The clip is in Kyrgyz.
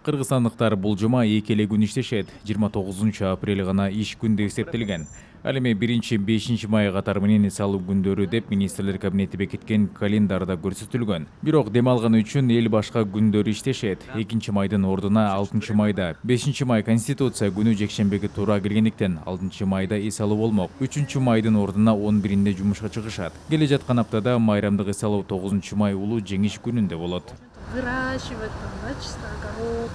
Кыргызстандыктар бул жума эки эле күн иштешет. 29 апрель гана иш күн деп эсептелген. Ал эми 1-5 май катары менен эс алуу күндөрү деп министрлер кабинети бекиткен календарда көрсөтүлгөн. Бирок дем алган үчүн эл башка күндөрү иштешет. 2 майдын ордуна 6 майда, 5 май Конституция күнү жекшембиге туура келгендиктен 6 майда эс алуу болмок. 3 майдын ордуна 11-инде жумушка чыгышат. Келе жаткан аптада майрамдык эс алуу 9 май улуу жеңиш күнүндө болот. Выращивать там, да, чисто огород.